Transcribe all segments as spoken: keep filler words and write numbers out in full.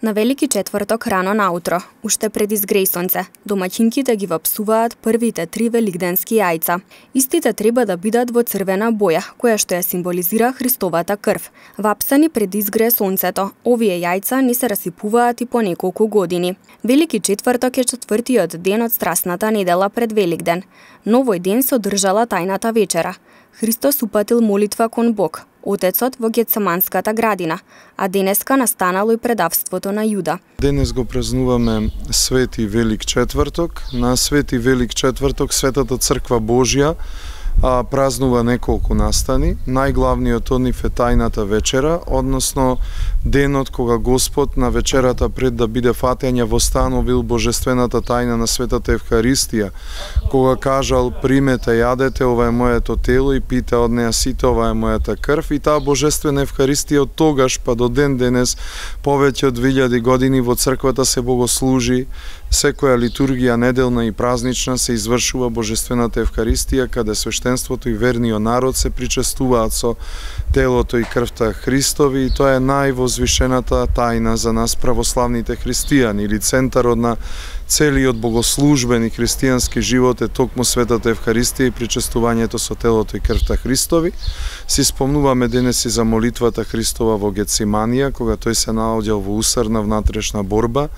На Велики четврток рано наутро, уште пред изгрејсонце, домаќинките ги вапсуваат првите три великденски јајца. Истите треба да бидат во црвена боја, која што ја символизира Христовата крв. Вапсани пред изгрее сонцето, овие јајца не се расипуваат и по неколку години. Велики четврток е четвртиот ден од Страсната недела пред Великден. Но овој ден се одржала тајната вечера. Христос упатил молитва кон Бог, Отецот во Гетсеманската градина, а денеска настанало и предавството на Јуда. Денес го празнуваме Свети Велик четврток. На Свети Велик четврток Светата Црква Божја а, празнува неколку настани. Најглавниот од нив е тајната вечера, односно денот кога Господ на вечерата пред да биде фатење востановил божествената тајна на Светата Евхаристија, кога кажал примете, јадете, ова е моето тело и пите од неа сите, ова е мојата крв, и таа божествена Евхаристија од тогаш па до ден денес повеќе од двилјади години во црквата се богослужи. Секоја литургија неделна и празнична се извршува божествената Евхаристија, каде свештенството и верниот народ се причестуваат со телото и крвта Христови, и тоа е највозвишената тајна за нас православните христијани, или центарот на целиот богослужбен и христијански живот е токму Светата Евхаристија и причестувањето со телото и крвта Христови. Си спомнуваме денес и за молитвата Христова во Гетсиманија, кога тој се наоѓал во усрна внатрешна борба,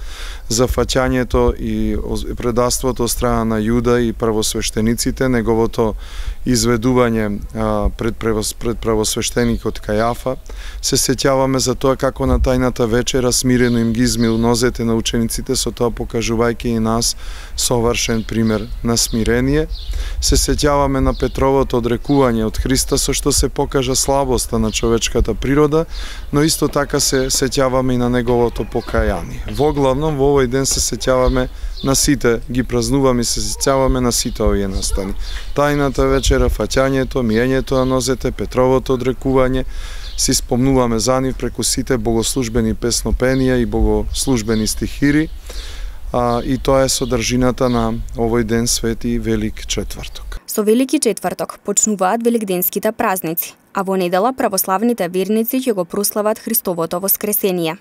за фаќањето и предавството од страна на Јуда и правосвештениците, неговото изведување а, пред, пред правосвештеникот Кајафа. Се сеќаваме за тоа како на тајната вечера смирено им ги измил нозете на учениците, со тоа покажувајќи и нас совршен пример на смирение. Се сеќаваме на Петровото одрекување од Христа, со што се покажа слабоста на човечката природа, но исто така се сеќаваме и на неговото покаяние. Воглавном во овој ден се сеќаваме на сите, ги празнуваме и се сеќаваме на сите овие настани. Тајната вечера, фаќањето, миењето на нозете, Петровото одрекување, си спомнуваме за нив преку сите богослужбени песнопенија и богослужбени стихири, а, и тоа е содржината на овој ден Свети Велик четврток. Со Велики четврток почнуваат великденските празници, а во недела православните верници ќе го прослават Христовото воскресение.